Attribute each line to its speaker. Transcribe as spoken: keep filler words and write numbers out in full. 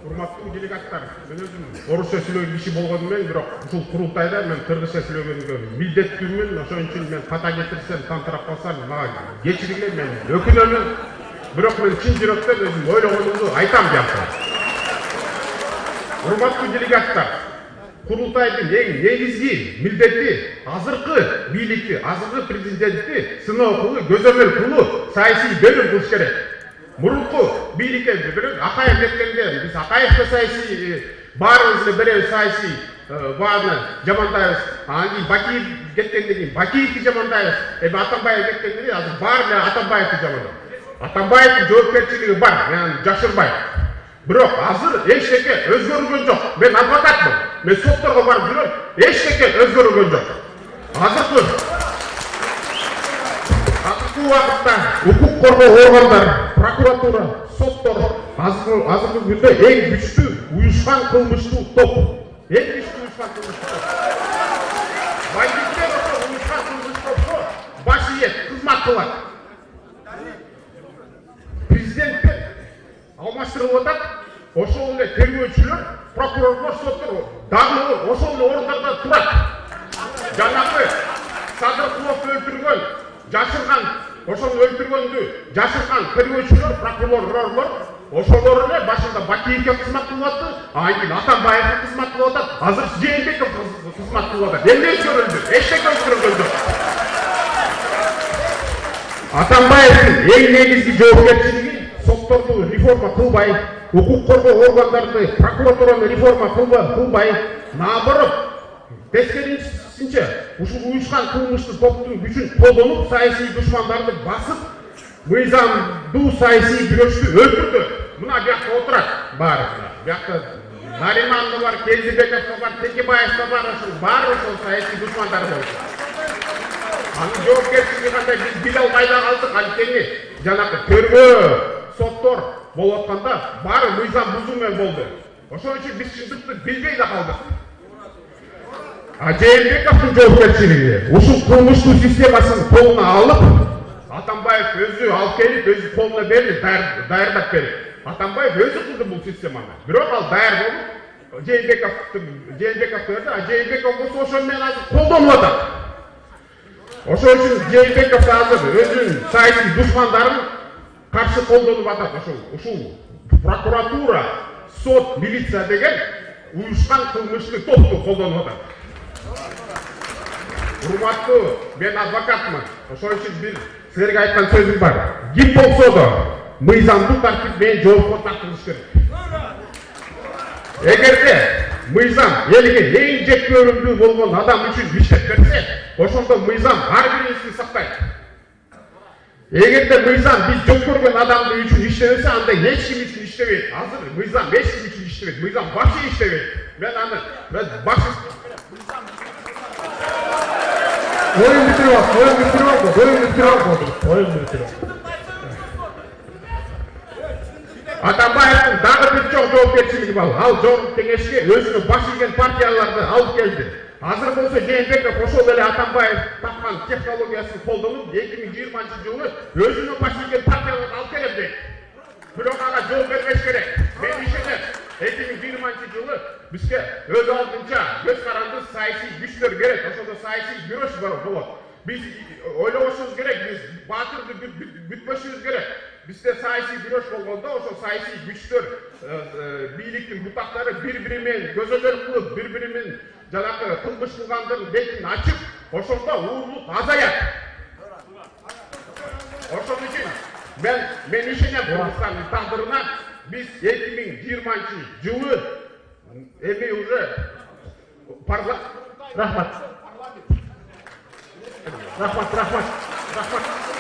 Speaker 1: урматтуу делегаттар, мен өзүм орусча сүйлөгөн киши болгону менен, бирок ушул курултайда мен кыргызча сүйлөгөнгө милдеттүүмүн. Ошон үчүн мен ката кетирсем, тантырап калсам, мага кечиргиле, мен өкүнөмүн. Бирок мен чын жүрөктөн өзүм ойлогонумду айтам жакшы. Урматтуу делегаттар, курултайдын эң негизги милдети азыркы бийликти, азыркы президентти сыноо кылуу, көзөмөл кылуу, саясий бөлүм кылыш керек. Мурунку бийликке бирок Акаев кеткенде биз Акаевке саясий баарыбыз эле беребиз, саясий бааны жамандайбыз. Анан кийин Бакиев кеткенден кийин Бакиевди жамандайбыз. Эми Атамбаев кеткенден кийин азыр баары эле Атамбаевди жамандайбыз. Атамбаевдин жоопкерчилиги бар, мен жашырбайм. Бирок азыр эчтеке өзгөрүлгөн жок. Мен адвокатмын. Мен сотторго барып жүрөм. Эчтеке өзгөрүлгөн жок. Азыркы Азыркы убакытта укук коргоо органдар, прокуратура, соттор азыркы азыркы күндө эң күчтүү уюшкан кылмыштуу топ. Эң күчтүү уюшкан кылмыштуу топ. Бандиттер ошо уюшкан кылмыштуу топко баш ийет, кызмат кылат. Президенттер алмаштырылып атат. Ошол эле тергөөчүлөр, прокурорлор, соттор дагы ошол эле орундарда турат. Жанагы Садыркуловду өлтүргөн, жашырган, ошону өлтүргөндү жашырган тергөөчүлөр, прокурорлор ошолор эле башында Бакиевге кызмат кылып атты, анан кийин Атамбаевге кызмат кылып атат, азыр Жээнбеков кызмат кылып атат. Эмне өзгөрүлдү? Эчтеке өзгөрүлгөн жок. Атамбаевдин эң негизги жоопкерчилиги сотторду реформа кылбай, укук коргоо органдарды, прокуратураны реформа кылбай, наоборот, тескерисинче ушул уюшкан кылмыштуу топтун күчүн колдонуп, саясий душмандарды басып, мыйзамдуу саясий күрөштү өлтүрдү. Мына бuyakta отурат баарыбыз. Бuyakta Нариман да бар, Келдибеков да бар, Текебаев да бар, ошол баары ошол саясий душмандар болду. Анын жоопкерчилиги кандай биз биле албай да калдык. Анткени жанагы тергөө, соттор болуп атканда баары мыйзам бузуу менен болду. Ошон үчүн биз чындыкты билбей да калдык. А Жээнбековдун жоопкерчилиги ушул кылмыштуу системасын колуна алып, Атамбаев өзү алып келип, өзү колуна берди, даярдап берди. Атамбаев өзү кылды бул системаны. Бирок ал даяр болуп, Жээнбековдун Жээнбековду берди, а Жээнбеков болсо ошол менен азыр колдонуп атат. Ошон үчүн Жээнбеков азыр өзүнүн саясий душмандарын каршы колдонуп атат. Ошол ушул прокуратура, сот, милиция деген уюшкан кылмыштуу топту колдонуп атат. Урматтуу, мен адвокатмын. Ошон үчүн бир силерге айткан сөзүм бар. Ким болсо да мыйзамдуу тартип менен жоопко тартылыш керек. Эгерде мыйзам элге эң жеккөрүндүү болгон адам үчүн иштеп берсе, ошондо мыйзам ар бирибизди сактайт. Эгерде мыйзам биз жок көргөн адамдын үчүн иштебесе, анда эч ким үчүн иштебейт. Азыр мыйзам эч ким үчүн иштебейт. Мыйзам вообще иштебейт. Мен аны мен баш
Speaker 2: Oyun bitiriyor, oyun bitiriyor, oyun bitiriyor, oyun bitiriyor.
Speaker 1: Атамбаевдин дагы бир чоң жоопкерчилиги бар. Ал жоғарғы кеңешке өзүнүн баш ийген партияларды алып келди. Азыр болсо Жээнбеков ошол эле Атамбаев тапкан технологиясын колдонуп, эки миң жыйырманчы жылы өзүнүн баш ийген партияларды алып келем дейт. Бирок ага жол бербеш керек. Мен ишенем, эки миң жыйырманчы жылы бизге өз алдынча көз каранды саясий күчлөр керек. Ошондо саясий күрөш болот. Биз ойлобошубуз керек, биз баатырды бүтпөшүбүз керек. Бизде саясий күрөш болгондо ошол саясий күчтөр, бийликтин бутактары бири-бири менен көзөмөл кылып, бири-бири менен жанагы кылмыш кылгандардын бетин ачып, ошондо уурлук азаят. Ошон үчүн мен мен ишенем Кыргызстандын тагдырына. Биз эки миң жыйырманчы жылы эми уже парламент.
Speaker 2: Рахмат. Рахмат, рахмат, рахмат.